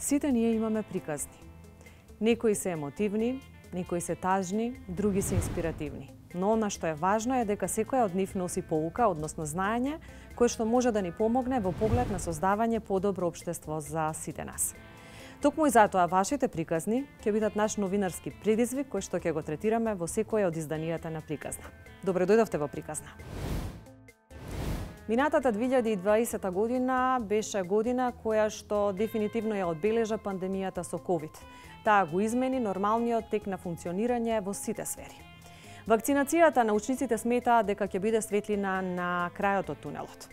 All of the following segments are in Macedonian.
Сите ние имаме приказни. Некои се емотивни, некои се тажни, други се инспиративни. Но она што е важно е дека секоја од нив носи поука, односно знаење, кое што може да ни помогне во поглед на создавање подобро општество за сите нас. Токму и затоа вашите приказни ќе бидат наш новинарски предизвик кој што ќе го третираме во секоја од изданијата на Приказна. Добре дојдовте во Приказна. Минатата 2020 година беше година која што дефинитивно ја одбележа пандемијата со COVID. Таа го измени нормалниот тек на функционирање во сите сфери. Вакцинацијата научниците сметаат дека ќе биде светлина на крајот од тунелот.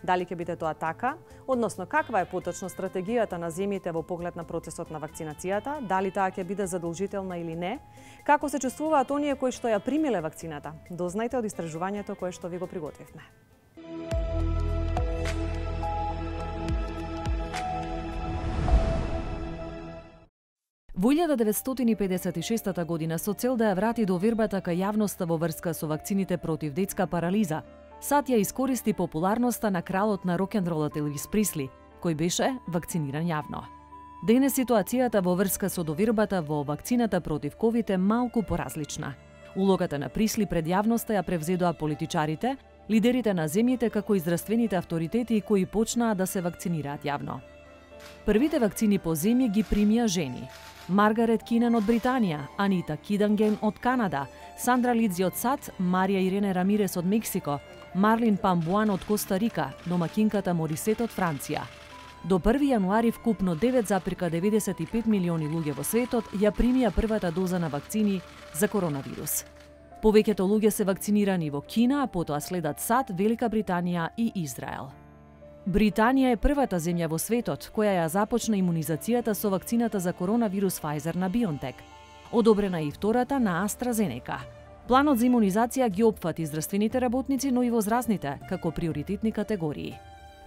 Дали ќе биде тоа така? Односно, каква е поточно стратегијата на земјите во поглед на процесот на вакцинацијата? Дали таа ќе биде задолжителна или не? Како се чувствуваат оние кои што ја примиле вакцината? Дознајте од истражувањето кое што ви го приготвивме. Во 1956 година, со цел да ја врати довербата кај јавноста во врска со вакцините против детска парализа, САД ја искористи популарноста на кралот на рок-н-ролот Елвис Пресли, кој беше вакциниран јавно. Денес ситуацијата во врска со довербата во вакцината против ковид е малку поразлична. Улогата на Пресли пред јавноста ја превзедоа политичарите, лидерите на земјите како и здравствените авторитети кои почнаа да се вакцинираат јавно. Првите вакцини по земја ги примија жени. Маргарет Кинан од Британија, Анита Киданген од Канада, Сандра Лидзи од САД, Марија Ирене Рамирес од Мексико, Марлин Памбуан од Коста Рика, домакинката Морисет од Франција. До 1 јануари вкупно 9,95 милиони луѓе во светот ја примија првата доза на вакцини за коронавирус. Повеќето луѓе се вакцинирани во Кина, а потоа следат САД, Велика Британија и Израел. Британија е првата земја во светот која ја започна имунизацијата со вакцината за коронавирус Pfizer на BioNTech. Одобрена и втората на AstraZeneca. Планот за имунизација ги опфати здравствените работници, но и возрастните, како приоритетни категории.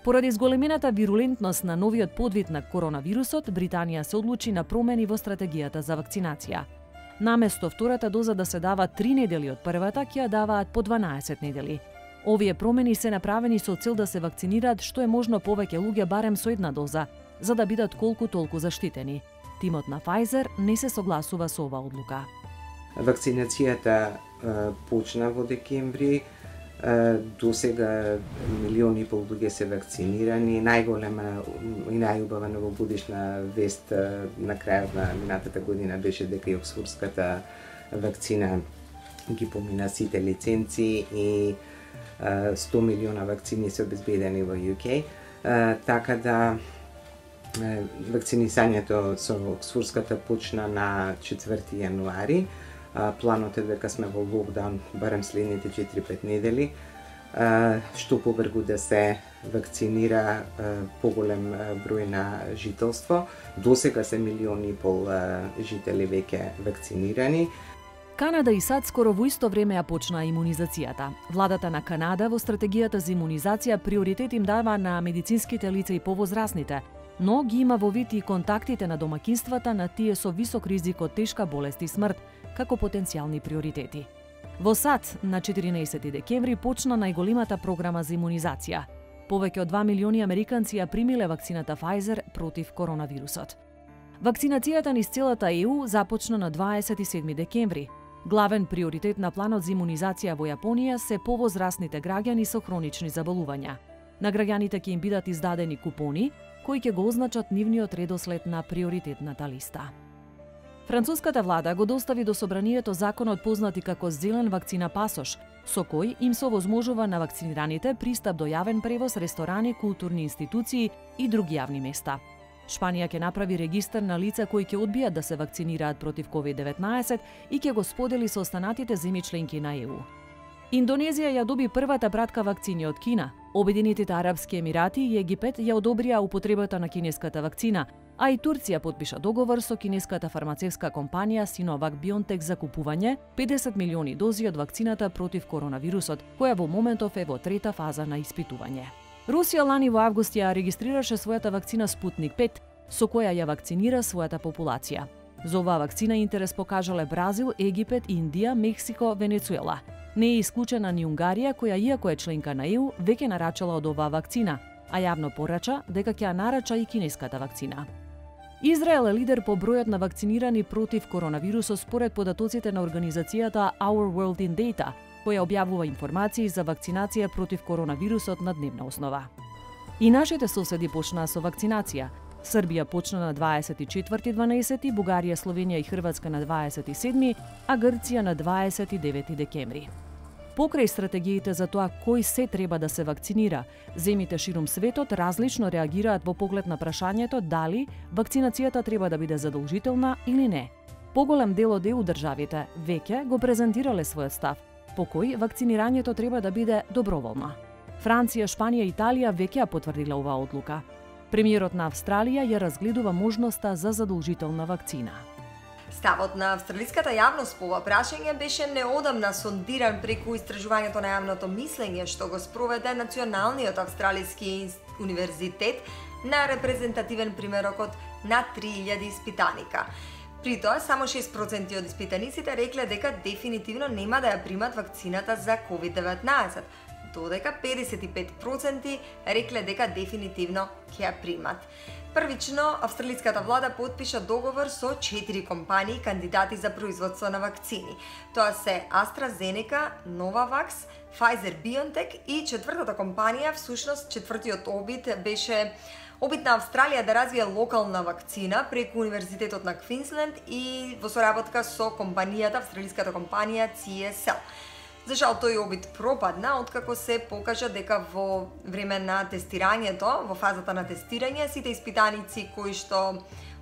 Поради зголемената вирулентност на новиот подвид на коронавирусот, Британија се одлучи на промени во стратегијата за вакцинација. Наместо втората доза да се дава 3 недели од првата, ќе ја даваат по 12 недели. Овие промени се направени со цел да се вакцинираат што е можно повеќе луѓе барем со една доза, за да бидат колку толку заштитени. Тимот на Pfizer не се согласува со оваа одлука. Вакцинацијата почна во декември. До сега 1,5 милиони луѓе се вакцинирани. Најголема и најубава новогодишна вест на крајот на минатата година беше дека и оксфордската вакцина ги помина сите лиценци и 100 милиона вакцини се обезбедени во UK, така да вакцинисањето со оксфордската почна на 4 јануари. Планот е дека сме во локдаун барем следните 4-5 недели, што побргу да се вакцинира поголем број на жителство. До сега се 1,5 милиони жители веќе вакцинирани. Канада и САД скоро во исто време ја почнаа имунизацијата. Владата на Канада во стратегијата за имунизација приоритет им дава на медицинските лица и повозрастните, но ги има во вид и контактите на домакинствата на тие со висок ризик од тешка болест и смрт, како потенцијални приоритети. Во САД на 14 декември почна најголемата програма за имунизација. Повеќе од 2 милиони американци ја примиле вакцината Pfizer против коронавирусот. Вакцинацијата низ целата ЕУ започна на 27 декември. Главен приоритет на планот за имунизација во Јапонија се повозрастните граѓани со хронични заболувања. На граѓаните ќе им бидат издадени купони, кои ќе го означат нивниот редослед на приоритетната листа. Француската влада го достави до собранието законот познати како зелен вакцина пасош, со кој им се овозможува на вакцинираните пристап до јавен превоз, ресторани, културни институции и други јавни места. Шпанија ќе направи регистар на лица кои ќе одбијат да се вакцинираат против COVID-19 и ќе го сподели со останатите земји членки на ЕУ. Индонезија ја доби првата пратка вакцини од Кина. Обединетите арапски емирати и Египет ја одобрија употребата на кинеската вакцина, а и Турција потпиша договор со кинеската фармацевска компанија Sinovac BioNTech за купување 50 милиони дози од вакцината против коронавирусот, која во моментов е во трета фаза на испитување. Русија лани во август ја регистрираше својата вакцина Спутник 5, со која ја вакцинира својата популација. За оваа вакцина интерес покажале Бразил, Египет, Индија, Мексико, Венецуела. Не е исклучена ни Унгарија, која иако е членка на ЕУ, веќе нарачала од оваа вакцина, а јавно порача дека ќе ја нарача и кинеската вакцина. Израел е лидер по бројот на вакцинирани против коронавирусот според податоците на организацијата Our World in Data, која објавува информации за вакцинација против коронавирусот на дневна основа. И нашите соседи почнаа со вакцинација. Србија почна на 24/12, Бугарија, Словенија и Хрватска на 27, а Грција на 29 декември. Покрај стратегиите за тоа кој се треба да се вакцинира, земјите ширум светот различно реагираат во поглед на прашањето дали вакцинацијата треба да биде задолжителна или не. Поголем дел од ЕУ државите веќе го презентирале својот став, по кој вакцинирањето треба да биде доброволно. Франција, Шпанија и Италија веќе ја потврдила оваа одлука. Премиерот на Австралија ја разгледува можноста за задолжителна вакцина. Ставот на австралиската јавност по ова прашање беше неодамна сондиран преку истражувањето на јавното мислење што го спроведе Националниот австралиски универзитет на репрезентативен примерок од над 3000 испитаника. При тоа, само 6% од испитаниците рекле дека дефинитивно нема да ја примат вакцината за COVID-19, додека 55% рекле дека дефинитивно ќе ја примат. Првично, австралиската влада потпиша договор со 4 компании кандидати за производство на вакцини. Тоа се AstraZeneca, Novavax, Pfizer-BioNTech и четвртата компанија, всушност четвртиот обид беше обид на Австралија да развие локална вакцина преку Универзитетот на Квинсленд и во соработка со компанијата, австралиската компанија CSL. За жал, тој обид пропадна, откако се покажа дека во време на тестирањето, во фазата на тестирање, сите испитаници кои што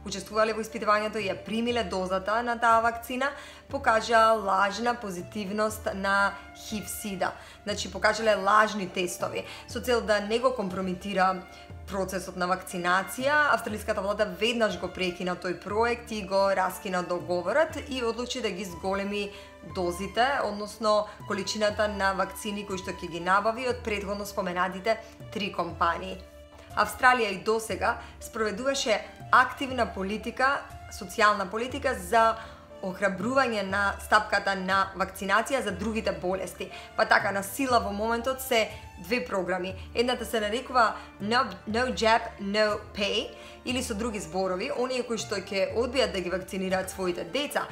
учествувале во испитувањето и ја примиле дозата на таа вакцина, покажа лажна позитивност на HIV-сида. Значи, покажале лажни тестови, со цел да не го компрометира процесот на вакцинација. Австралиската влада веднаш го прекина тој проект и го раскина договорот и одлучи да ги зголеми дозите, односно количината на вакцини кои што ќе ги набави од претходно споменатите 3 компании. Австралија и досега спроведуваше активна политика, социјална политика за охрабрување на стапката на вакцинација за другите болести. Па така, на сила во моментот се 2 програми. Едната се нарекува No Jab, No Pay, или со други зборови, оние кои што ќе одбијат да ги вакцинираат своите деца,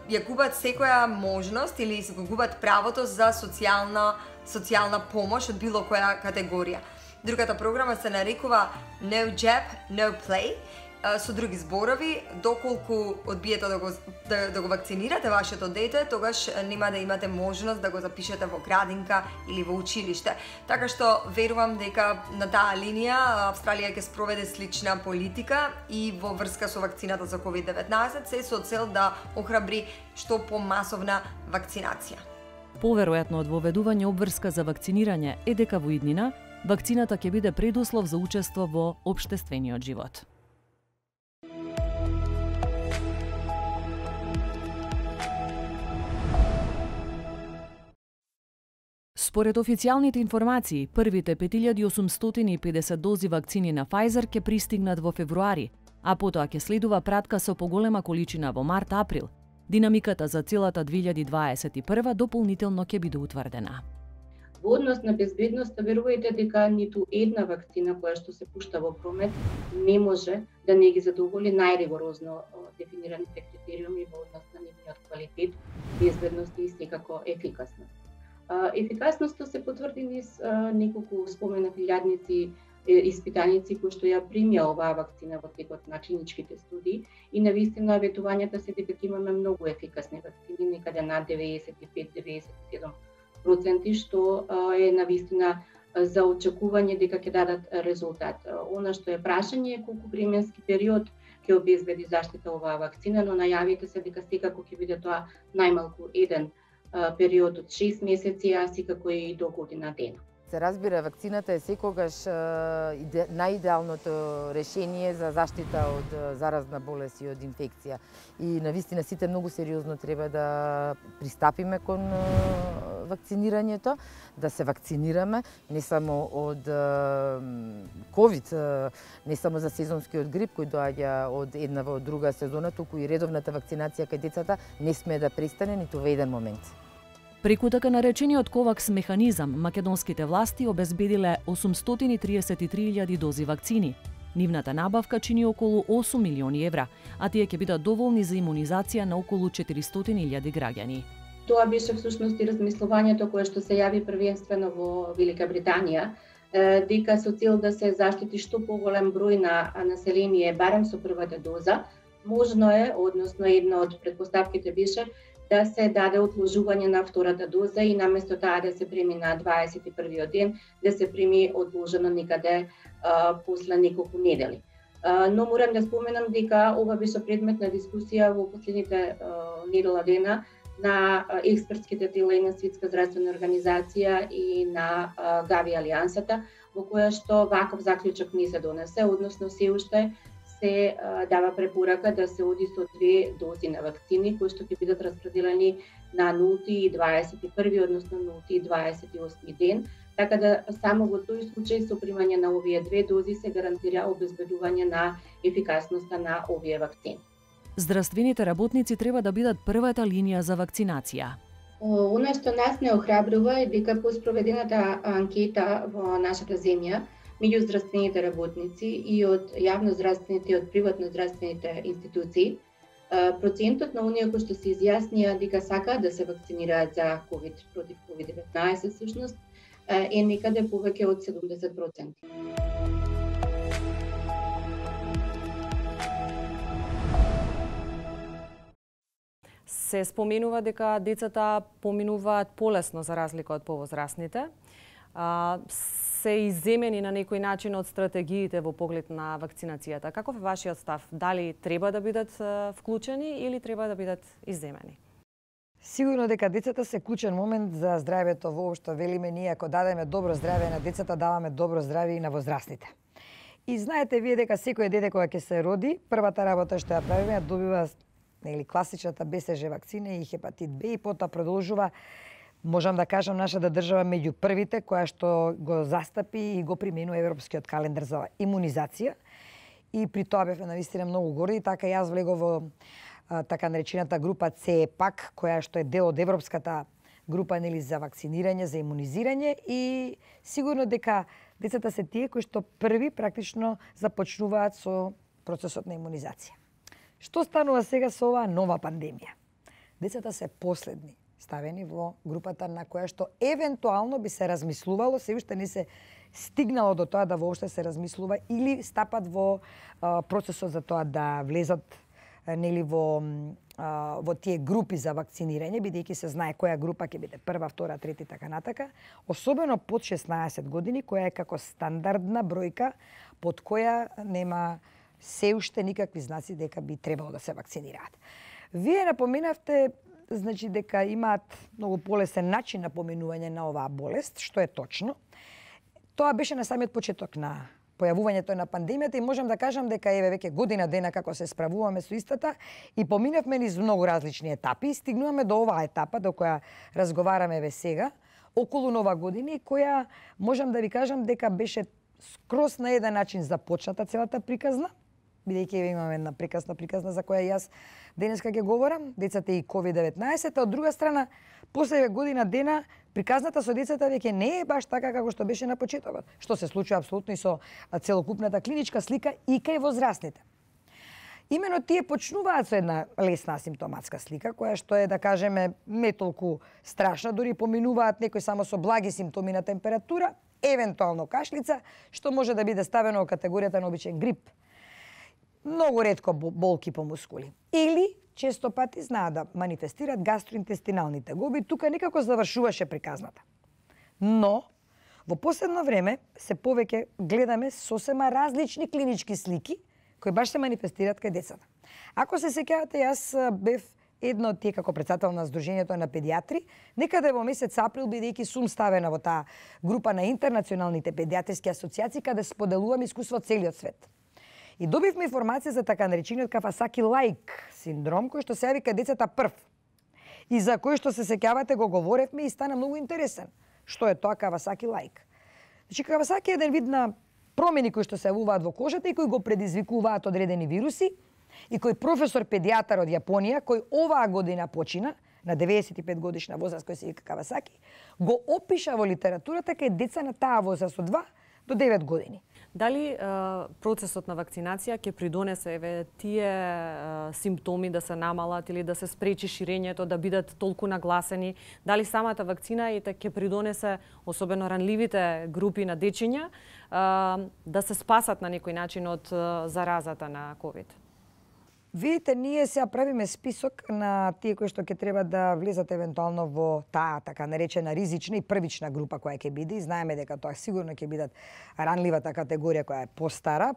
ја губат секоја можност или се го губат правото за социјална помош од било која категорија. Другата програма се нарекува No Jab, No Play, со други зборови, доколку одбиете да го вакцинирате вашето дете, тогаш нема да имате можност да го запишете во градинка или во училиште. Така што верувам дека на таа линија Австралија ќе спроведе слична политика и во врска со вакцината за COVID-19 се со цел да охрабри што помасовна вакцинација. Поверојатно од воведување обврска за вакцинирање е дека во иднина вакцината ќе биде предуслов за учество во општествениот живот. Според официјалните информации, првите 5850 дози вакцини на Pfizer ќе пристигнат во февруари, а потоа ќе следува пратка со поголема количина во март-април. Динамиката за целата 2021 дополнително ќе биде утврдена. Во однос на безбедноста, верувајте дека ниту една вакцина која што се пушта во промет не може да не ги задоволи најригорозно дефинираните критериуми во однос на нивниот квалитет, безбедност и секако ефикасност. Ефикасноста се потврди низ неколку споменати илјадници испитаници кои што ја примија оваа вакцина во текот на клиничките студии и навистина ветувањата се дека имаме многу ефикасни вакцини, некаде над 95-97%, што е навистина за очекување дека ќе дадат резултат. Она што е прашање е колку временски период ќе обезбеди заштита оваа вакцина, но најавите се дека секако ќе биде тоа најмалку еден период од 6 месеци, а секако и до година дена. Се разбира, вакцината е секогаш најидеалното решение за заштита од заразна болест и од инфекција. И навистина сите многу сериозно треба да пристапиме кон вакцинирањето, да се вакцинираме не само од ковид, не само за сезонскиот грип кој доаѓа од една во друга сезона, туку и редовната вакцинација кај децата не смее да престане ниту во еден момент. Преку така наречениот ковакс механизам, македонските власти обезбедиле 833.000 дози вакцини. Нивната набавка чини околу 8 милиони евра, а тие ќе бидат доволни за имунизација на околу 400.000 граѓани. Тоа беше всушност и размислувањето кое што се јави првенствено во Велика Британија, дека со цел да се заштити што поголем број на население барем со првата доза, можно е, односно една од претпоставките беше да се даде одложување на втората доза и наместо таа да се прими на 21-виот ден, да се прими одложено некаде после неколку недели. Но морам да споменам дека ова беше предмет на дискусија во последните недела дена на експертските тела и на Светска здравствена организација и на Гави Алијансата, во која што ваков заклучок не се донесе, односно се уште се дава препорака да се оди со 2 дози на вакцини кои што ќе бидат распределени на 0 и 21, односно 0 и 28 ден, така да само во тој случај со примање на овие 2 дози се гарантира обезбедување на ефикасноста на овие вакцини. Здравствените работници треба да бидат првата линија за вакцинација. Она што нас не охрабрува е дека по спроведената анкета во нашата земја меѓу здравствените работници и од јавноздравствените и од приватноздравствените институции, процентот на оние кои што се изјаснија дека сакаат да се вакцинираат за COVID, против COVID-19 всушност, е некаде повеќе од 70%. Се споменува дека децата поминуваат полесно за разлика од повозрасните. Се изземени на некој начин од стратегиите во поглед на вакцинацијата. Каков е вашиот став? Дали треба да бидат вклучени или треба да бидат изземени? Сигурно дека децата се клучен момент за здравјето воопшто. Велиме ние, ако дадеме добро здравје на децата, даваме добро здравје и на возрастните. И знаете вие дека секој дете кога ќе се роди, првата работа што ја правиме, добива класичната БСЖ вакцина и хепатит Б и потоа продолжува. Можам да кажам нашата држава меѓу првите која што го застапи и го применува европскиот календар за имунизација. И при тоа бевме навистина многу горди, така јас влегов во така наречената група ЦЕПАК, која што е дел од европската група за вакцинирање, за имунизирање и сигурно дека децата се тие кои што први практично започнуваат со процесот на имунизација. Што станува сега со оваа нова пандемија? Децата се последни ставени во групата на која што евентуално би се размислувало, се уште не се стигнало до тоа да воопште се размислува или стапат во процесот за тоа да влезат во тие групи за вакцинирање, бидејќи се знае која група ќе биде прва, втора, трета и така натака, особено под 16 години, која е како стандардна бројка под која нема се уште никакви знаци дека би требало да се вакцинираат. Вие напоменавте значи дека имаат многу полесен начин на поминување на оваа болест, што е точно. Тоа беше на самиот почеток на појавувањето на пандемијата и можам да кажам дека еве веќе година дена како се справуваме со истата и поминавме низ многу различни етапи и стигнуваме до оваа етапа до која разговараме еве сега, околу Нова година, која можам да ви кажам дека беше скроз на еден начин започната целата приказна, бидејќи имаме една приказна за која јас денеска ќе говорам, децата и COVID-19, а од друга страна, после година дена, приказната со децата веќе не е баш така како што беше на почетокот, што се случува апсолутно и со целокупната клиничка слика и кај возрастните. Имено тие почнуваат со една лесна асимптоматска слика, која што е, да кажеме, не толку страшна, дури поминуваат некои само со благи симптоми на температура, евентуално кашлица, што може да биде ставено во категоријата на обичен грип. Многу ретко болки по мускули. Или често пати знаат да манифестираат гастроинтестинални тегоби, тука некако завршуваше приказната. Но, во последно време се повеќе гледаме сосема различни клинички слики кои баш се манифестираат кај децата. Ако се сеќавате, јас бев едно од тие како председател на Сдруженијето на педиатри, некаде во месец април, бидејќи сум ставена во таа група на интернационалните педиатриски асоциации, каде споделувам искуство од целиот свет. И добивме информација за така наречениот Кавасаки-лаик синдром, кој што се јави кај децата прв. И за кој што се сеќавате го говоревме и стана многу интересен. Што е тоа Кавасаки-лаик? Значи, Кавасаки е еден вид на промени кои што се јавуваат во кожата и кои го предизвикуваат одредени вируси и кој професор педијатар од Јапонија, кој оваа година почина, на 95 годишна возраст, кој се вика Кавасаки, го опиша во литературата кај деца на таа возраст од 2 до 9 години. Дали процесот на вакцинација ќе придонесе тие симптоми да се намалат или да се спречи ширењето, да бидат толку нагласени? Дали самата вакцина ќе придонесе, особено ранливите групи на дечиња, да се спасат на некој начин од заразата на COVID? Видите, ние сега правиме список на тие кои што ќе треба да влезат евентуално во таа така наречена ризична и првична група која ќе биде. И знаеме дека тоа сигурно ќе бидат ранливата категорија која е постара,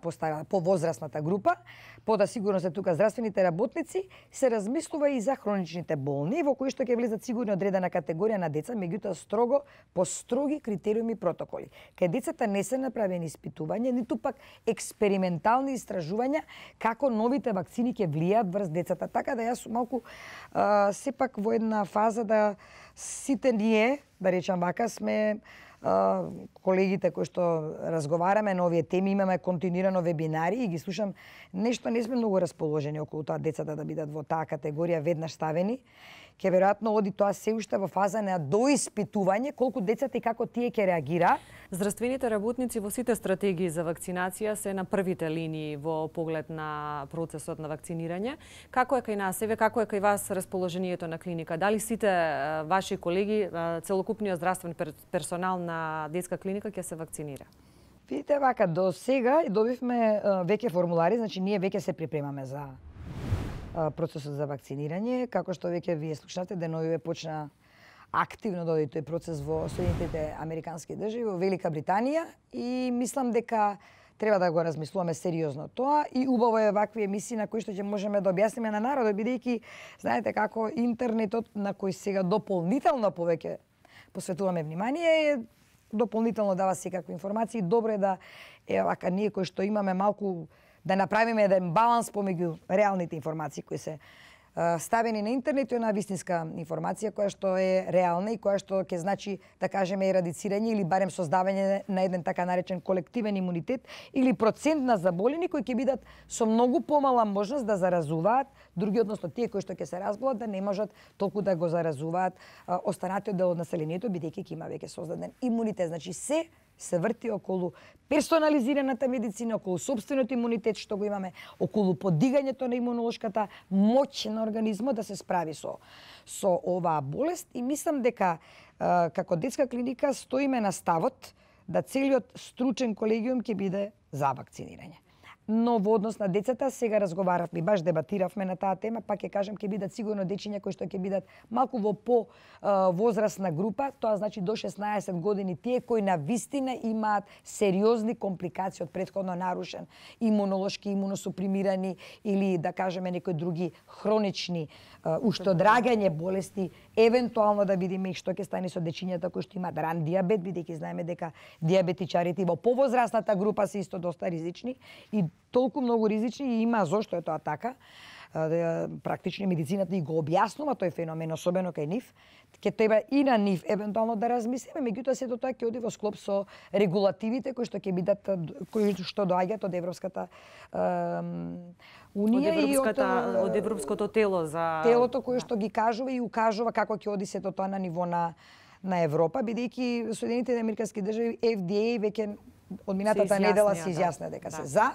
повозрасната група. Пода сигурно се тука здравствените работници, се размислува и за хроничните болни, во кои што ќе влезат сигурно одредена категорија на деца, меѓутоа строго по строги критериуми и протоколи. Кај децата не се направени испитувања, ниту пак експериментални истражувања како новите вакцини ќе влијаат врз децата. Така да јас сум малку сепак во една фаза да сите ние, да речам вака, сме колегите кои што разговараме на овие теми, имаме континуирано вебинари и ги слушам, нешто не сме многу расположени околу тоа децата да бидат во таа категорија веднаш ставени. Ке веројатно оди тоа се уште во фаза на доиспитување колку децата и како тие ќе реагираат. Здравствените работници во сите стратегии за вакцинација се на првите линии во поглед на процесот на вакцинирање. Како е кај нас, како е кај вас расположението на клиника? Дали сите ваши колеги, целокупниот здравствен персонал на детска клиника ќе се вакцинира? Видите вака, до сега добивме веќе формулари, значи ние веќе се припремаме за процесот за вакцинирање. Како што веќе вие слушнате, деновиве почна активно да оди тој процес во Соединетите Американски држави, во Велика Британија и мислам дека треба да го размислуваме сериозно тоа и убаво е вакви емисии на кои што ќе можеме да објасниме на народот, бидејќи знаете како интернетот на кој сега дополнително повеќе посветуваме внимание, дополнително дава секакви информации. Добро е да вака ние кои што имаме малку да направиме еден баланс помеѓу реалните информации кои се ставени на интернет и на вистинска информација која што е реална и која што ќе значи, да кажеме, ерадицирање или барем создавање на еден така наречен колективен имунитет или процент на заболени кои ќе бидат со многу помала можност да заразуваат други, односно тие кои што ќе се разболат да не можат толку да го заразуваат останатиот дел од населението, бидејќи ќе има веќе создаден имунитет. Значи се врти околу персонализираната медицина, околу собствениот имунитет што го имаме, околу подигањето на имунолошката моќ на организмот да се справи со оваа болест и мислам дека како детска клиника стоиме на ставот да целиот стручен колегиум ќе биде за вакцинирање. Но во однос на децата сега разговаравме, баш дебатиравме на таа тема, пак ќе кажам ќе бидат сигурно дечиња кои што ќе бидат малку во возрастна група, тоа значи до 16 години, тие кои на вистина имаат сериозни компликации од претходно нарушен имунолошки, имуносупримирани или да кажеме некои други хронични уште одрагање болести, евентуално да видиме и што ќе стане со дечињата кои што имаат ран диабет, бидејќи знаеме дека диабетичарите во повозрастната група се исто доста ризични и толку многу ризични и има зошто е тоа така. Практично медицината и го објаснува тој феномен, особено кај нив. Ќе треба и на нив евентуално да размислиме, меѓутоа сето тоа ќе оди во склоп со регулативите кои што ќе бидат, кои што доаѓаат од Европската Унија и од Европското тело за телото кое што ги кажува и укажува како ќе оди сето тоа на ниво на Европа, бидејќи Соединетите Американски држави FDA веќе од минатата недела се изјасна дека се за.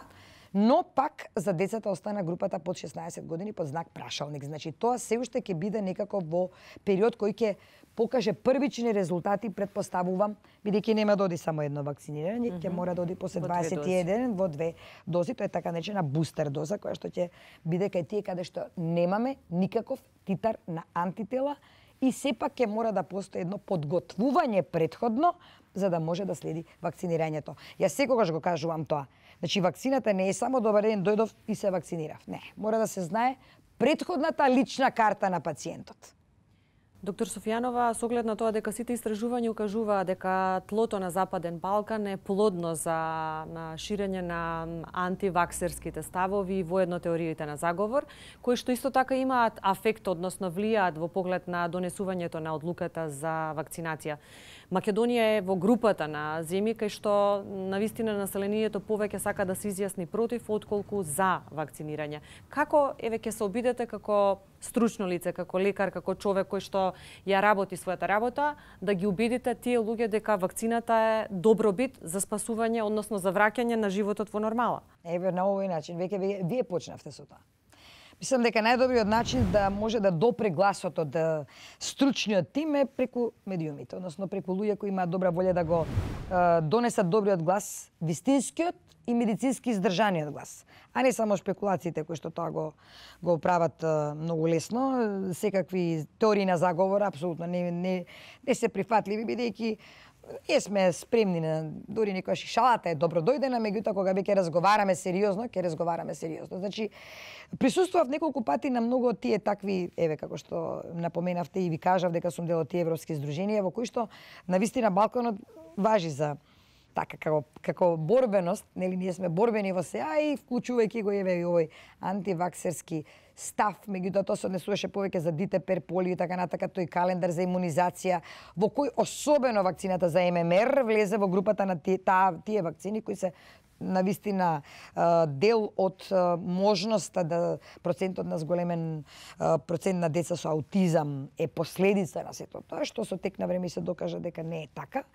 Но пак за децата остана групата под 16 години под знак прашалник. Значи тоа се уште ќе биде некако во период кој ќе покаже првични резултати, предпоставувам, бидејќи нема да оди само едно вакцинирање, ќе мора да оди после 21 во 2 дози, тоа е така наречена бустер доза која што ќе биде кај тие каде што немаме никаков титар на антитела и сепак ќе мора да постои едно подготвување претходно за да може да следи вакцинирањето. Јас секогаш го кажувам тоа. Значи, вакцината не е само добар ден, дојдов и се вакцинирав. Не, мора да се знае претходната лична карта на пациентот. Доктор Софијанова, со оглед на тоа дека сите истражувања укажуваат дека тлото на Западен Балкан е плодно за ширење на антиваксерските ставови и воедно теориите на заговор, кои што исто така имаат афект, односно влијаат во поглед на донесувањето на одлуката за вакцинација. Македонија е во групата на земји кај што навистина населението повеќе сака да се изјасни против отколку за вакцинирање. Како ќе се обидете како стручно лице, како лекар, како човек кој што ја работи својата работа, да ги убедите тие луѓе дека вакцината е добробит за спасување, односно за враќање на животот во нормала? Еве на овој начин, веќе вие почнавте со тоа. Мислам дека најдобриот начин да може да допре гласот од стручниот тим е преку медиумите, односно преку луѓе кои имаат добра волја да го донесат добриот глас, вистинскиот и медицински издржаниот глас, а не само шпекулациите кои што тоа го прават многу лесно, секакви теории на заговор апсолутно не се прифатливи, бидејќи сме спремни на дури некојаш шалата е добро дојдена, меѓутоа кога веќе разговараме сериозно, ќе разговараме сериозно. Значи присуствував неколку пати на многу од тие такви, еве како што напоменавте и ви кажав дека сум дел од тие европски здруженија во кои што навистина балконот важи за така како борбеност, нели ние сме борбени во сеа и вклучувајќи го еве и овој антиваксерски став, меѓутоа тоа се однесуваше повеќе за ДТП, полио и така натака, тој календар за имунизација, во кој особено вакцината за ММР влезе во групата на тие вакцини кои се навистина дел од можноста да процентот на зголемен процент на деца со аутизам е последица на сето тоа, што со тек на време се докажа дека не е така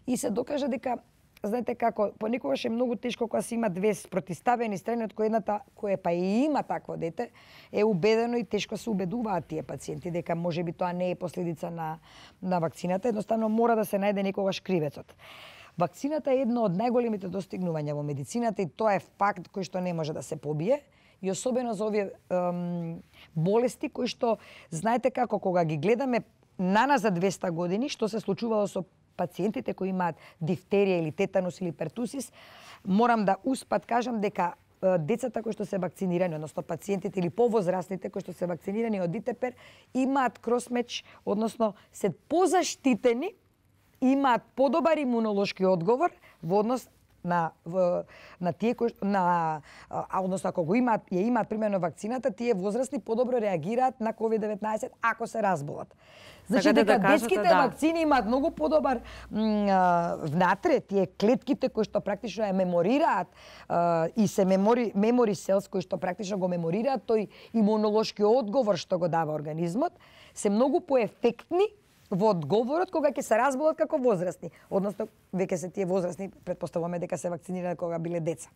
и се докажа дека знаете како, понекогаш е многу тешко кога се има две спротивставени страни, од кој едната која па и има такво дете, е убедено и тешко се убедуваат тие пациенти дека можеби тоа не е последица на вакцината, едноставно мора да се најде некогаш кривецот. Вакцината е едно од најголемите достигнувања во медицината и тоа е факт кој што не може да се побие и особено за овие болести кои што знаете како кога ги гледаме наназад 200 години што се случувало со пациентите кои имаат дифтерија или тетанус или пертусис, морам да успат кажам дека децата кои што се вакцинирани, односно пациентите или повозрастните кои што се вакцинирани од ДТП имаат кросмеч, односно се позаштитени, имаат подобар имунолошки одговор во однос на тие кои односно ако го имаат примерно вакцината, тие возрастни подобро реагираат на COVID-19 ако се разболат. Значи дека детските вакцини имаат многу подобар внатре тие клетките кои што практично ја меморираат и се мемори селс кои што практично го меморираат тој имунолошки одговор што го дава организмот, се многу поефектни во одговорот кога ќе се разболат како возрастни. Односно, веќе се тие возрастни, предпоставуваме дека се вакцинирани кога биле деца.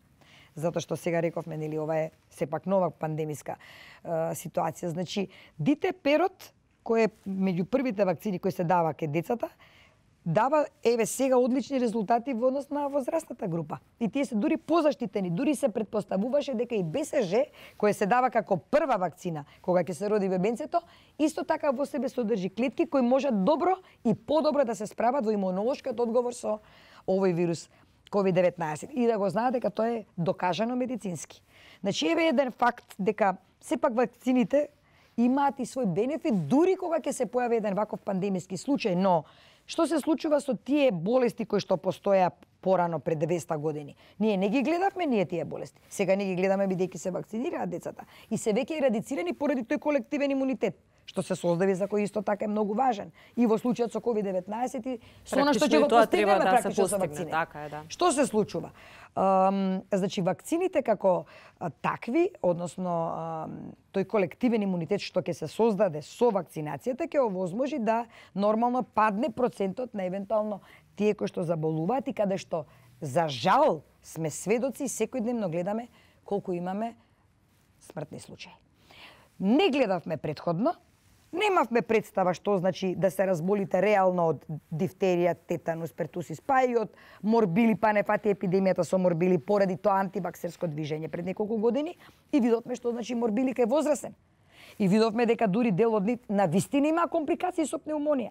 Затоа што сега рековме, нели, ова е сепак нова пандемиска ситуација. Значи, ДТП-рот, кој е меѓу првите вакцини кои се дава кај децата, дава еве сега одлични резултати во однос на возрастната група. И тие се дури позаштитени, дури се предпоставуваше дека и БСЖ, кој се дава како прва вакцина кога ќе се роди бебенцето, исто така во себе содржи клетки кои можат добро и подобро да се справат во имунолошкиот одговор со овој вирус COVID-19. И да го знаат дека тоа е докажано медицински. Значи еве еден факт дека сепак вакцините имаат и свој бенефит дури кога ќе се појави еден ваков пандемиски случај, но што се случува со тие болести кои што постоја порано пред 200 години? Ние не ги гледавме тие болести. Сега не ги гледаме бидејќи се вакцинираат децата и се веќе ерадицирани поради тој колективен имунитет, што се создави за кој исто така е многу важен. И во случајот со COVID-19 и со она што ќе го постигнеме практично со вакцини. Што се случува? Значи вакцините како такви, односно тој колективен имунитет што ќе се создаде со вакцинацијата ќе овозможи да нормално падне процентот на евентуално тие кои што заболуваат и каде што за жал сме сведоци и секојдневно гледаме колку имаме смртни случаи. Не гледавме претходно, немавме представа што значи да се разболите реално од дифтерија, тетанус, пертусис, па и од морбили, па не фати епидемијата со морбили поради тоа антиваксерско движење пред неколку години и видовме што значи морбили кај возрастен. И видовме дека дури дел од нив на вистина има компликации со пневмонија.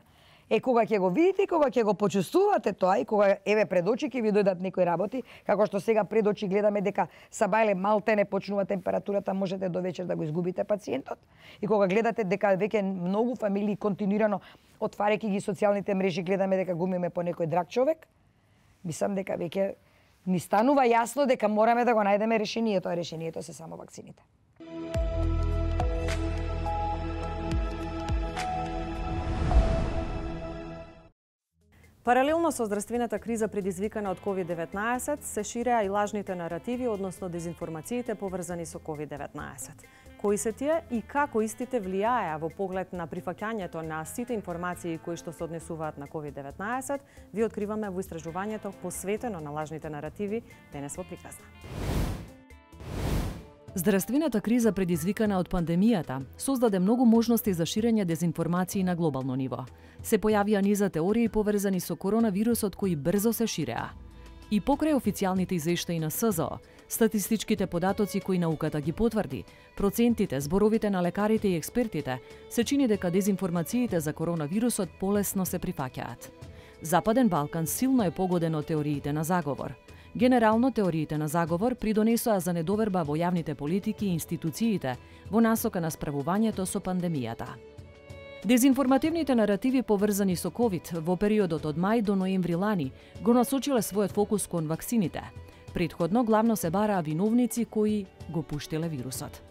Кога ќе го видите, кога ќе го почувствувате тоа и кога еве пред очи ќе ви дојдат некои работи, како што сега пред очи гледаме дека сабајле малтене почнува температурата, можете до вечер да го изгубите пациентот. И кога гледате дека веќе многу фамилии континуирано отварајќи ги социјалните мрежи гледаме дека губиме по некој драг човек, мислам дека веќе ни станува јасно дека мораме да го најдеме решението, а решението се само вакцините. Паралелно со здравствената криза предизвикана од COVID-19, се ширеа и лажните наративи, односно дезинформациите поврзани со COVID-19. Кои се тие и како истите влијаеа во поглед на прифаќањето на сите информации кои што се однесуваат на COVID-19, ви откриваме во истражувањето посветено на лажните наративи денес во приказна. Здравствената криза предизвикана од пандемијата создаде многу можности за ширење дезинформации на глобално ниво. Се појавија низа теории поврзани со коронавирусот кои брзо се ширеа. И покрај официјалните извештаи на СЗО, статистичките податоци кои науката ги потврди, процентите, зборовите на лекарите и експертите, се чини дека дезинформациите за коронавирусот полесно се прифаќаат. Западен Балкан силно е погоден од теориите на заговор. Генерално, теориите на заговор придонесоа за недоверба во јавните политики и институциите во насока на справувањето со пандемијата. Дезинформативните наративи поврзани со COVID во периодот од мај до ноември лани го насочиле својот фокус кон ваксините. Предходно главно се бараа виновници кои го пуштиле вирусот.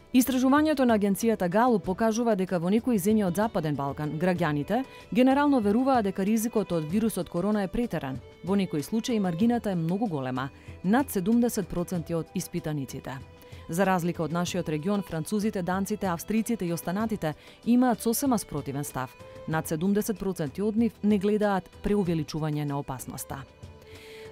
Истражувањето на агенцијата Галуп покажува дека во некои земји од Западен Балкан граѓаните генерално веруваат дека ризикот од вирусот корона е претеран. Во некои случаи маргината е многу голема, над 70% од испитаниците. За разлика од нашиот регион, французите, данците, австриците и останатите имаат сосема спротивен став. Над 70% од нив не гледаат преувеличување на опасноста.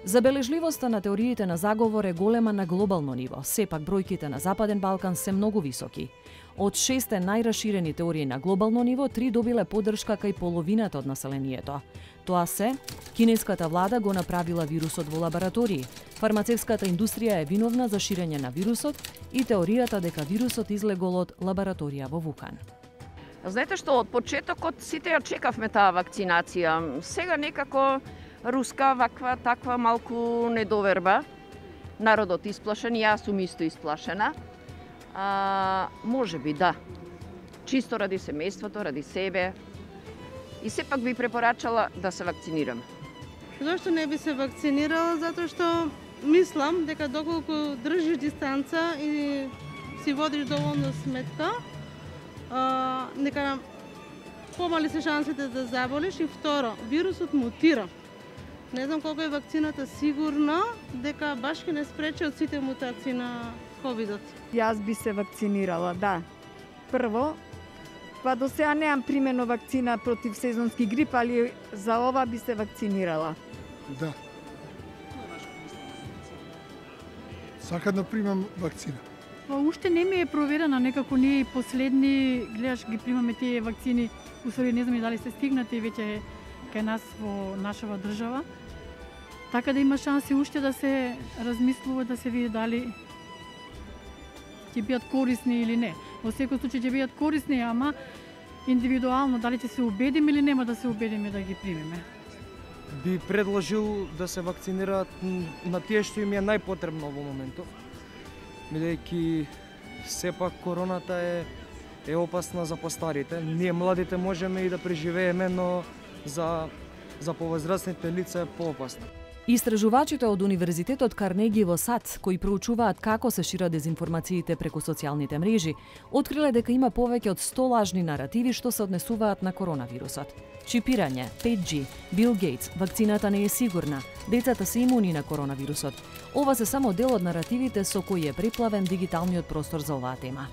Забележливоста на теориите на заговор е голема на глобално ниво, сепак бројките на Западен Балкан се многу високи. Од 6 најраширени теории на глобално ниво, 3 добиле поддршка кај половината од населението. Тоа се, кинеската влада го направила вирусот во лаборатории, фармацевската индустрија е виновна за ширење на вирусот и теоријата дека вирусот излегол од лабораторија во Вухан. Знаете што, од почетокот сите ја чекавме таа вакцинација. Сега некако руска ваква таква малку недоверба. Народот исплашен, јас сум исто исплашена. Може би да. Чисто ради семејството, ради себе. И сепак би препорачала да се вакцинирам. Зошто не би се вакцинирала? Затоа што мислам дека доколку држиш дистанца и си водиш доволно сметка, нека помали се шансите да заболиш. И второ, вирусот мутира. Не знам колку е вакцината сигурна дека баш ќе не спречи од сите мутации на ковидот. Јас би се вакцинирала, да. Прво, па до сега неам примено вакцина против сезонски грип, али за ова би се вакцинирала. Да. Сакам да примам вакцина. Уште не ми е проверена, некако ние последни, гледаш, ги примаме тие вакцини, усвари не знам и дали се стигнати веќе кај нас во нашава држава. Така да има шанси уште да се размислува, да се види дали ќе бидат корисни или не. Во секој случај ќе бидат корисни, ама индивидуално дали ќе се убедиме или нема да се убедиме да ги примеме. Би предложил да се вакцинираат на тие што им е најпотребно во моментов, бидејќи сепак короната е опасна за постарите. Ние младите можеме и да преживееме, но за повозрастните лица е поопасно. Истражувачите од Универзитетот Карнеги во САД, кои проучуваат како се шират дезинформациите преку социјалните мрежи, откриле дека има повеќе од 100 лажни наративи што се однесуваат на коронавирусот. Чипирање, 5G, Бил Гейтс, вакцината не е сигурна, децата се имуни на коронавирусот. Ова се само дел од наративите со кои е преплавен дигиталниот простор за оваа тема.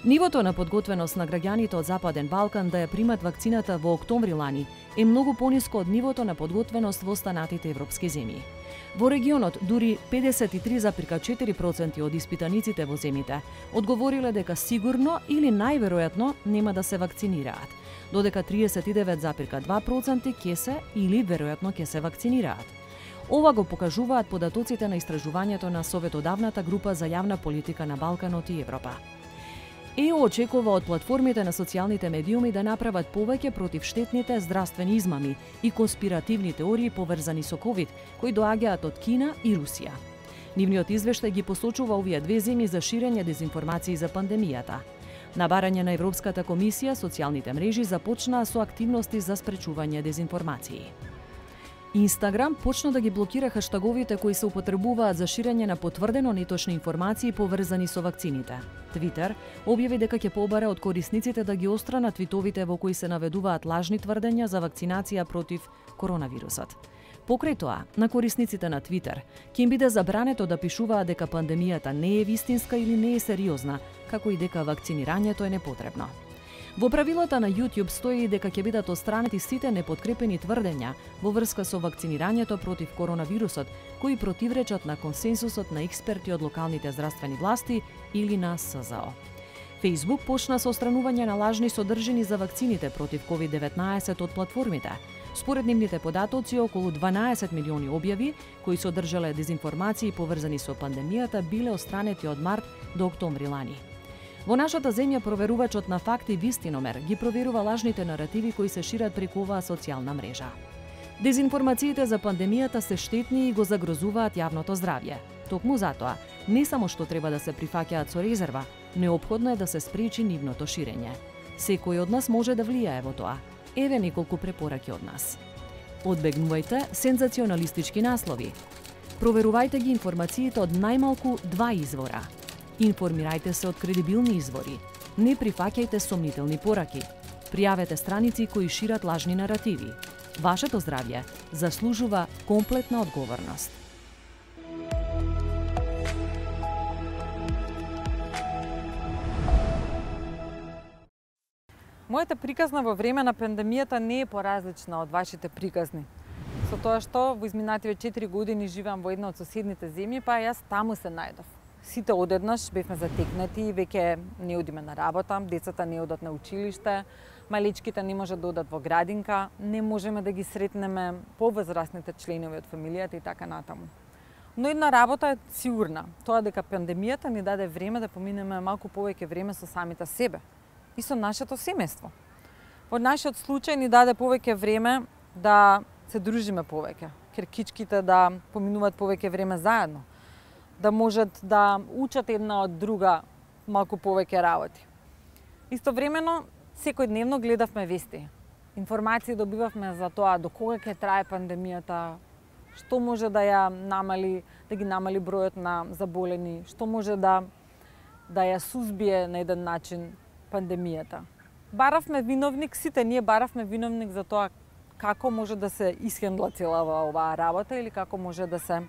Нивото на подготвеност на граѓаните од Западен Балкан да ја примат вакцината во октомври лани е многу пониско од нивото на подготвеност во останатите европски земји. Во регионот дури 53,4% од испитаниците во земјите одговориле дека сигурно или најверојатно нема да се вакцинираат, додека 39,2% ќе се или веројатно ќе се вакцинираат. Ова го покажуваат податоците на истражувањето на Советодавната група за јавна политика на Балканот и Европа. ЕО очекува од платформите на социјалните медиуми да направат повеќе против штетните здравствени измами и конспиративни теории поврзани со ковид, кои доаѓаат од Кина и Русија. Нивниот извештај ги посочува овие две земји за ширење дезинформации за пандемијата. На барање на Европската комисија, социјалните мрежи започнаа со активности за спречување дезинформации. Инстаграм почна да ги блокира хаштаговите кои се употребуваат за ширење на потврдено неточни информации поврзани со вакцините. Твитер објави дека ќе побара од корисниците да ги острана твитовите во кои се наведуваат лажни тврдења за вакцинација против коронавирусот. Покрај тоа, на корисниците на Твитер ќе им биде забрането да пишуваат дека пандемијата не е вистинска или не е сериозна, како и дека вакцинирањето е непотребно. Во правилата на YouTube стои дека ќе бидат отстранети сите непоткрепени тврдења во врска со вакцинирањето против коронавирусот, кои противречат на консенсусот на експерти од локалните здравствени власти или на СЗО. Facebook почна со отстранување на лажни содржини за вакцините против COVID-19 од платформите. Според нивните податоци, околу 12 милиони објави кои содржале дезинформации поврзани со пандемијата биле отстранети од март до октомври лани. Во нашата земја проверувачот на факти Вистиномер ги проверува лажните наративи кои се шират преку оваа социјална мрежа. Дезинформациите за пандемијата се штетни и го загрозуваат јавното здравје. Токму затоа, не само што треба да се прифаќаат со резерва, неопходно е да се спречи нивното ширење. Секој од нас може да влијае во тоа. Еве неколку препораки од нас. Одбегнувајте сензационалистички наслови. Проверувајте ги информациите од најмалку 2 извора. Информирајте се од кредибилни извори. Не прифаќајте сомнителни пораки. Пријавете страници кои шират лажни наративи. Вашето здравје заслужува комплетна одговорност. Мојата приказна во време на пандемијата не е поразлична од вашите приказни. Со тоа што во изминативе 4 години живеам во една од соседните земји, па јас таму се најдов. Сите одеднаш бевме затекнати, веќе не одиме на работа, децата не одат на училиште, малечките не можат да одат во градинка, не можеме да ги сретнеме повозрастните членови од фамилијата и така натаму. Но една работа е сигурна, тоа дека пандемијата ни даде време да поминеме малку повеќе време со самите себе и со нашето семејство. Во нашиот случај ни даде повеќе време да се дружиме повеќе, керкичките да поминуваат повеќе време заедно, да можат да учат една од друга малку повеќе работи. Истовремено, секојдневно гледавме вести. Информации добивавме за тоа до кога ќе трае пандемијата, што може да ја намали, да ги намали бројот на заболени, што може да ја сузбие на еден начин пандемијата. Баравме виновник, сите ние баравме виновник за тоа како може да се исхендла целава оваа работа или како може да се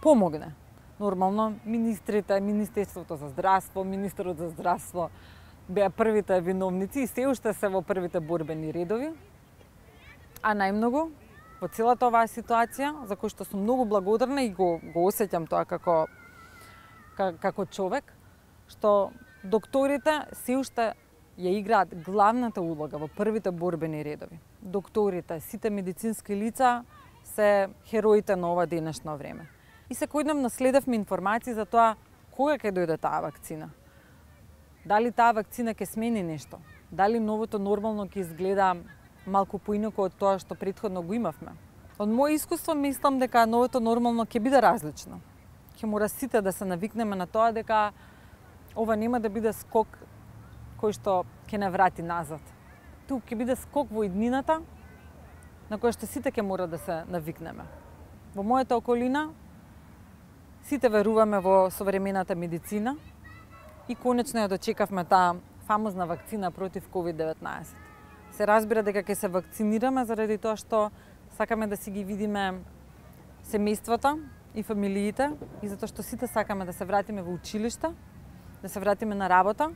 помогне. Нормално, министрите, Министерството за здравство, министерот за здравство беа првите виновници и се уште се во првите борбени редови. А најмногу во целата оваа ситуација, за кој што сум многу благодарна и го осеќам тоа како човек, што докторите се уште ја играат главната улога во првите борбени редови. Докторите, сите медицински лица се хероите на ова денешно време. И секојдневно следевме информации за тоа кога ќе дојде таа вакцина. Дали таа вакцина ќе смени нешто? Дали новото нормално ќе изгледа малку поинаку од тоа што претходно го имавме? Од моје искуство мислам дека новото нормално ќе биде различно. Ќе мора сите да се навикнеме на тоа дека ова нема да биде скок кој што ќе не врати назад. Тук ќе биде скок во иднината на кој што сите ќе мора да се навикнеме. Во мојата околина сите веруваме во современата медицина и конечно ја дочекавме таа фамозна вакцина против COVID-19. Се разбира дека ќе се вакцинираме заради тоа што сакаме да си ги видиме семејствата и фамилиите и затоа што сите сакаме да се вратиме во училиште, да се вратиме на работа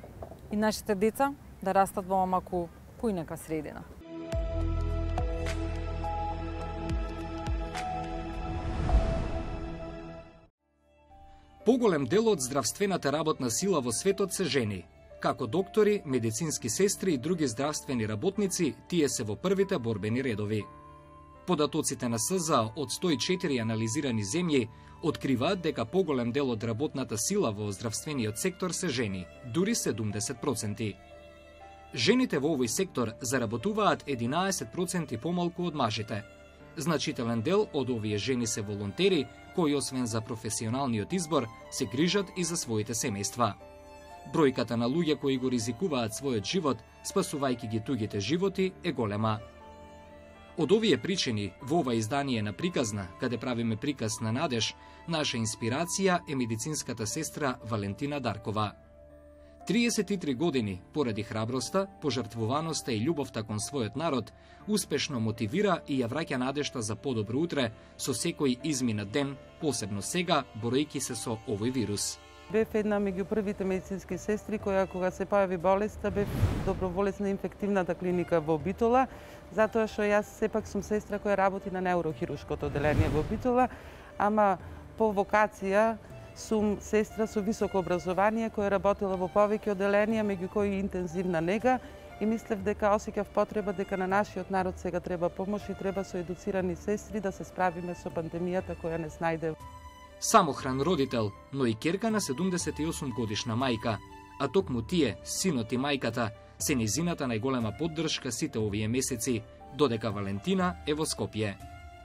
и нашите деца да растат во малку поинаква средина. Поголем дел од здравствената работна сила во светот се жени. Како доктори, медицински сестри и други здравствени работници, тие се во првите борбени редови. Податоците на СЗО од 104 анализирани земји откриваат дека поголем дел од работната сила во здравствениот сектор се жени, дури 70%. Жените во овој сектор заработуваат 11% помалку од мажите. Значителен дел од овие жени се волонтери, кои освен за професионалниот избор, се грижат и за своите семејства. Бројката на луѓе кои го ризикуваат својот живот, спасувајќи ги тугите животи, е голема. Од овие причини, во ова издание на Приказна, каде правиме приказ на надеж, наша инспирација е медицинската сестра Валентина Даркова. 33 години, поради храброста, пожртвуваноста и љубовта кон својот народ, успешно мотивира и ја враќа надежта за подобро утре со секој изминат ден, посебно сега, боројки се со овој вирус. Бев една меѓу првите медицински сестри која кога се појави болеста бев доброволец на инфективната клиника во Битола, затоа што јас сепак сум сестра која работи на неурохирушкото одделение во Битола, ама по вокација сум сестра со високо образование која работила во повеќе одделенија, меѓу кои интензивна нега, и мислев дека осеќав потреба дека на нашиот народ сега треба помош и треба со едуцирани сестри да се справиме со пандемијата која не снајде. Самохран родител, но и керка на 78 годишна мајка, а токму тие, синот и мајката, се низината најголема поддршка сите овие месеци, додека Валентина е во Скопје.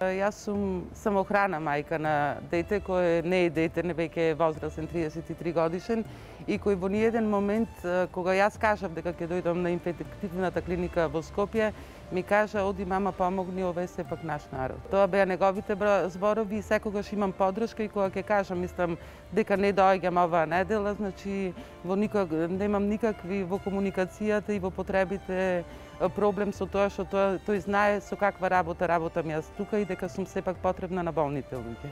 Јас сум самохрана мајка на дете кој не е дете, не веќе е возрастен 33 годишен и кој во ниеден момент кога јас кажав дека ќе дојдам на инфективната клиника во Скопје, ми кажа: "Оди мама, помогни, ова е сепак наш народ." Тоа беа неговите зборови и секогаш имам поддршка и кога ќе кажам, мислам дека не доаѓам оваа недела, значи немам никакви во комуникацијата и во потребите проблем со тоа што тој знае со каква работам јас тука и дека сум сепак потребна на болните луѓе.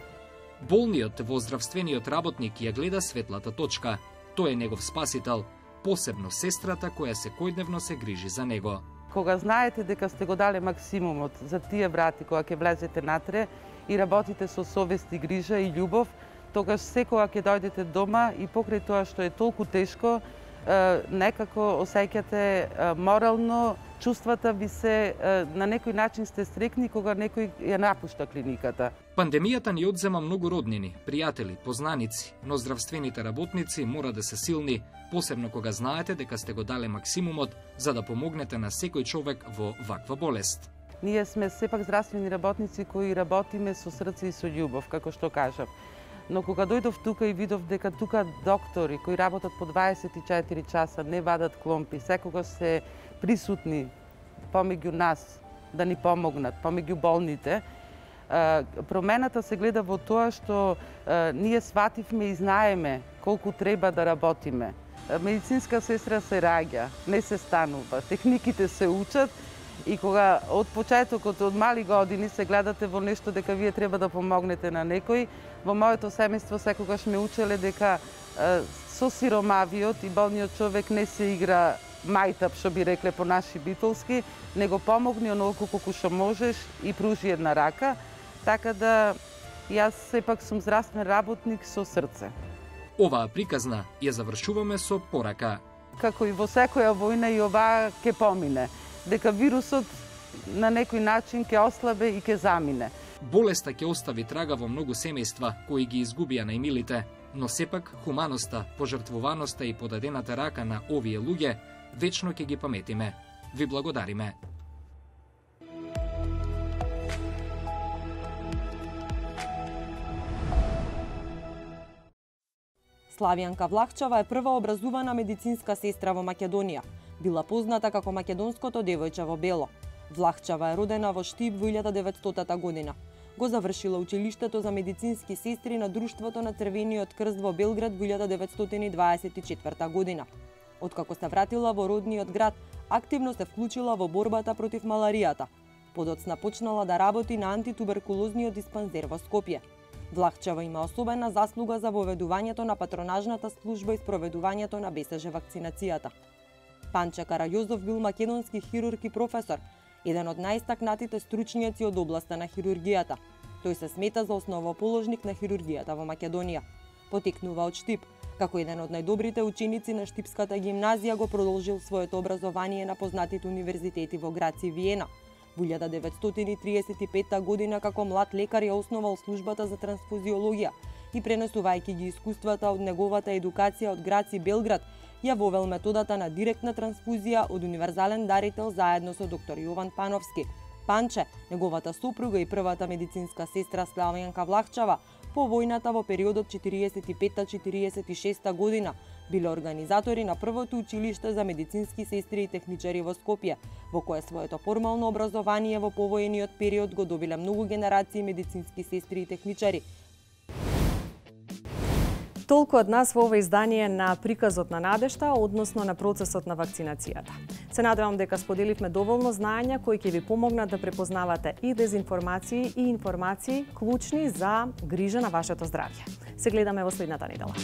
Болниот во здравствениот работник ја гледа светлата точка. Тој е негов спасител, посебно сестрата која секојдневно се грижи за него. Кога знаете дека сте го дале максимумот за тие врати кога ќе влезете натре и работите со совест и грижа и љубов, тогаш секога ќе дојдете дома и покрај тоа што е толку тешко, некако осеќате морално, чувствата ви се на некој начин сте стрекни кога некој ја напушта клиниката. Пандемијата ни одзема многу роднини, пријатели, познаници, но здравствените работници мора да се силни, посебно кога знаете дека сте го дале максимумот за да помогнете на секој човек во ваква болест. Ние сме сепак здравствени работници кои работиме со срце и со љубов, како што кажав. Но кога дојдов тука и видов дека тука доктори кои работат по 24 часа не вадат кломпи, секогаш се присутни помеѓу нас да ни помогнат, помеѓу болните, промената се гледа во тоа што ние свативме и знаеме колку треба да работиме. Медицинска сестра се раѓа, не се станува, техниките се учат и кога од почетокот, од мали години се гледате во нешто дека вие треба да помогнете на некој, во моето семејство секогаш ме учеле дека со сиромавиот и болниот човек не се игра мајтап, што би рекле по наши битолски, него помогни онолку колку што можеш и пружи една рака, така да јас сепак сум здравствен работник со срце. Оваа приказна ја завршуваме со порака. Како и во секоја војна и оваа ќе помине, дека вирусот на некој начин ќе ослабе и ќе замине. Болеста ќе остави трага во многу семејства кои ги изгубија најмилите, но сепак хуманоста, пожртвуваноста и подадената рака на овие луѓе вечно ќе ги паметиме. Ви благодариме. Славјанка Влахчева е прва образувана медицинска сестра во Македонија. Била позната како македонското девојче во бело. Влахчева е родена во Штип во 1900 година. Го завршила училиштето за медицински сестри на Друштвото на Црвениот крст во Белград во 1924 година. Откако се вратила во родниот град, активно се вклучила во борбата против маларијата. Подоцна почнала да работи на антитуберкулозниот диспансер во Скопје. Влахчева има особена заслуга за воведувањето на патронажната служба и спроведувањето на БСЖ вакцинацијата. Панче Карајозов бил македонски хирург и професор, еден од најстакнатите стручњаци од областа на хирургијата. Тој се смета за основоположник на хирургијата во Македонија. Потекнува од Штип. Како еден од најдобрите ученици на Штипската гимназија го продолжил своето образование на познатите универзитети во Грац и Виена. Во 1935 година како млад лекар ја основал службата за трансфузиологија и пренесувајќи ги искуствата од неговата едукација од Грац и Белград, ја вовел методата на директна трансфузија од универзален дарител заедно со доктор Јован Пановски. Панче, неговата сопруга и првата медицинска сестра Славјанка Влахчева, по војната во периодот 45-46 година Биле организатори на првото училиште за медицински сестри и техничари во Скопје, во кое своето формално образование во повојниот период го добиле многу генерации медицински сестри и техничари. Толку од нас во ова издание на приказот на надежта, односно на процесот на вакцинацијата. Се надевам дека споделивме доволно знаења кои ќе ви помогнат да препознавате и дезинформации и информации клучни за грижа на вашето здравје. Се гледаме во следната недела.